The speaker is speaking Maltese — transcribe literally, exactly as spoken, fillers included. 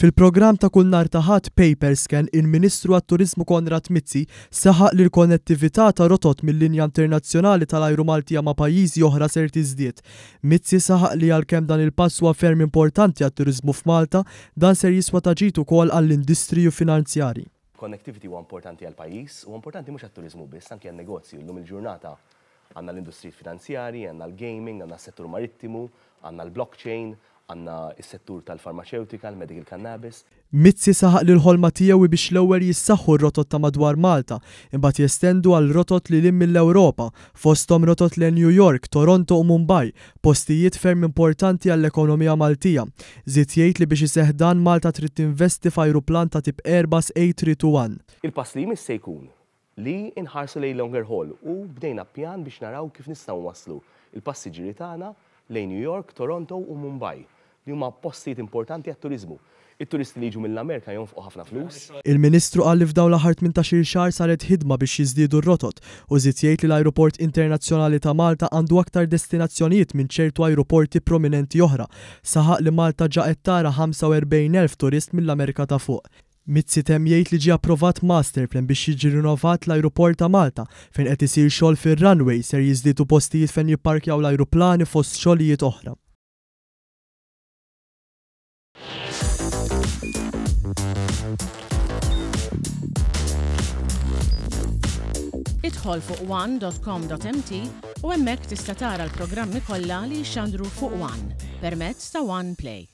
Fil-programm ta' kull nhar ta' Ħadd Paper Scan, il-Ministru għat-Turiżmu Konrad Mizzi saħaq li l-konnettività ta' rotot mill-linja internazzjonali tal-ajru Maltija ma' pajjiżi oħra ser tiżdied. Mizzi saħaq li għalkemm dan il-pass huwa ferm importanti għat-turiżmu f'Malta, dan ser jiswa ta' ġid ukoll għall-industriji finanzjarji. Connectivity huwa importanti għall-pajjiż, u importanti mhux għat-turiżmu biss, anke għan-negozju. Llum il-ġurnata għandna l-industriji finanzjarji, għandna l-gaming, għandna s-settur marittimu, għandna l-blockchain, għandna s-settur tal-farmaceutika, l-medical cannabis. Mizzi saħaq li l-ħolma tiegħu biex l-ewwel jissaħħu r-rotot ta' madwar Malta, imbagħad jestendu għal rotot lil hinn mill-Ewropa, fosthom rotot lejn New York, Toronto u Mumbai, postijiet ferm importanti għall-ekonomija Maltija. Żied jgħid li biex iseħħ dan, Malta trid tinvesti f'ajruplan ta' tip Airbus A three two one. Il-pass li jmiss se jkun li inħarsu lejn longer haul u bdejna pjan biex naraw kif nistgħu waslu il-passiġġieri tagħna lejn New York, Toronto u Mumbai, li huma postijiet importanti għat-turiżmu. It-turisti li jiġu mill-Amerika jonfqu ħafna flus. Il-Ministru qal li f'dawn l-aħħar tmintax-il xahar saret ħidma biex jiżdiedu r-rotot u żied jgħid li l-Ajruport Internazzjonali ta' Malta għandu aktar destinazzjonijiet minn ċertu ajruporti prominenti oħra. Saħaq li Malta ġa qed tara ħamsa u erbgħin elf turist mill-Amerika ta' Fuq. Mizzi temm jgħid li ġie approvat master plan biex jiġi rinnovat l-ajruport ta' Malta, fejn qed isir xogħol fir-runway, ser jiżdiedu postijiet fejn jipparkjaw l-ajruplani, fost xogħlijiet oħra. Idħol fuq one dot com dot M T u hemmhekk tista' tara l-programmi kollha li jixxandru fuq One permezz ta' One Play.